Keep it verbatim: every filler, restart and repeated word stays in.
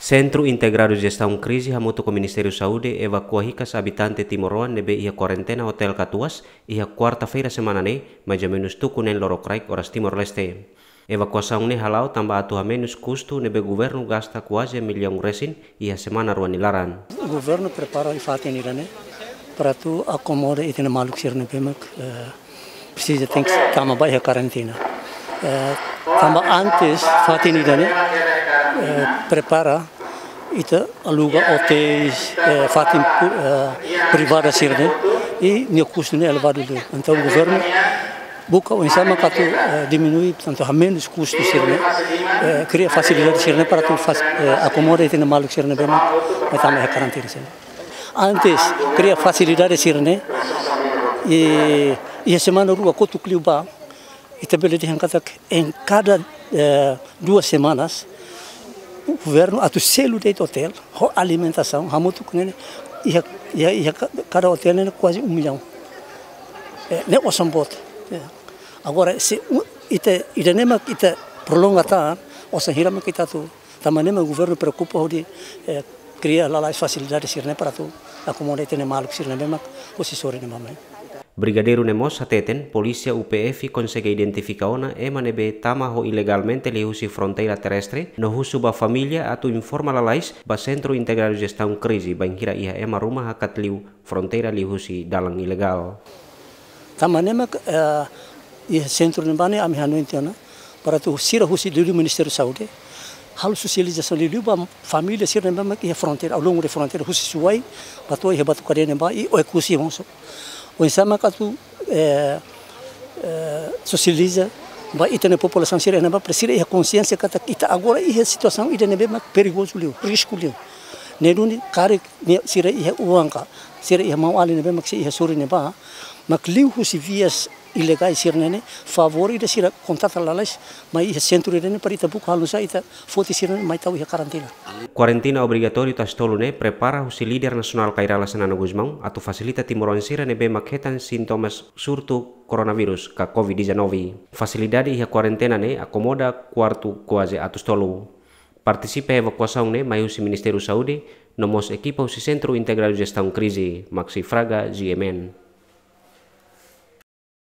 Sentru Integradu Jestaun Krize hamutuk ho Ministériu Saúde evakua hikas abitante timoroan ne'ebé iha kuarentena Hotel Katuas iha kuarta-feira semana ne'e, mais ou menus tuku neen lorokraik oras Timor-Leste. Evakuasaun ne'e hala'o tanba atu hamenus kustu ne'ebé governu gasta kuaze millaun resin iha semana rua nia laran. Governu prepara iha fatin ida-ne'e para atu akomoda ita-nia maluk sira ne'ebé mak, eh, presiza tenke tama ba iha karantina. Eh, tanba antes fatin ida-ne'e, eh, prepara ita aluga otéis, eh, fatin pu-, eh, privada sira-ne'e, i nia kustu ne'e elevadu liu. Entaun governu buka oinsá mak atu, eh, diminui, portantu, hamenus kustu sira-ne'e, eh, kria fasilidade sira-ne'e para atu fas-, eh, akomoda ita-nia maluk sira ne'ebé mak, mak tama iha karantina sira-ne'e. Antes, kria fasilidade sira-ne'e, i, iha semana rua kotuk liubá, ita bele dehan katak em cada, eh, duas semanas, governu atu selu de'it otél ho alimentasaun, hamutuk ne'e, iha, iha, iha ka-, kada otél ne'e kuaze um milhão. Eh, ne'e osan boot. Eh, agora, se u-, ita, ida-ne'e mak ita prolonga tan, osan hira mak ita atu, tanba ne'e mak governu preokupa hodi, eh, kria lalais fasilidade sira-ne'e para atu akomoda ita-nia maluk sira ne'ebé mak husi sorin ne'ebá mai. Brigadeiru ne'e mós hateten, polísia U P F konsege identifika ona ema ne'ebé tama ho ilegalmente liuhusi fronteira terrestre, no husu ba família atu informa lalais ba Sentru Integradu Jestaun Krize, bainhira iha ema ruma hakat liu fronteira liuhusi dalan ilegál. Tanba ne'e mak, eh, iha sentru ne'ebá ne'e ami hanoin tiha ona, para atu sira husi liuliu Ministériu Saúde halo sosializasaun liuliu ba família sira ne'ebé mak iha fronteira, ao longo de fronteira, husi Suai ba to'o iha Batucadeia ne'ebá i Oekusi mós. Oinsá mak atu, eh, eh, sosializa ba ita-nia populasaun sira ne'ebá, para sira iha konxiénsia katak ita agora iha situasaun ida ne'ebé mak perigozu liu, risku liu. Ne'e duni karik ne'e sira iha oan ka, sira iha maun-alin ne'ebé mak sei iha sorin ne'ebá, mak liuhusi vias ilegais sira-ne'e, favór ida sira kontata lalais mai iha sentru ida-ne'e para ita buka halo nu'usá ita foti sira-ne'e mai tau iha karantina. Kuarentena obrigatóriu Tasi Tolu ne'e prepara husi líder nasionál Kay Rala Xanana Gusmão atu fasilita timoroan sira ne'ebé mak hetan sintomas surtu koronavírus ka covid dezanove. Fasilidade iha kuarentena ne'e akomoda kuartu kuaze atus tolu. Partisipa evakuasaun ne'e mai husi Ministériu Saúde, no mós ekipa husi Sentru Integradu Jestaun Krize, mak sei fraga G M N.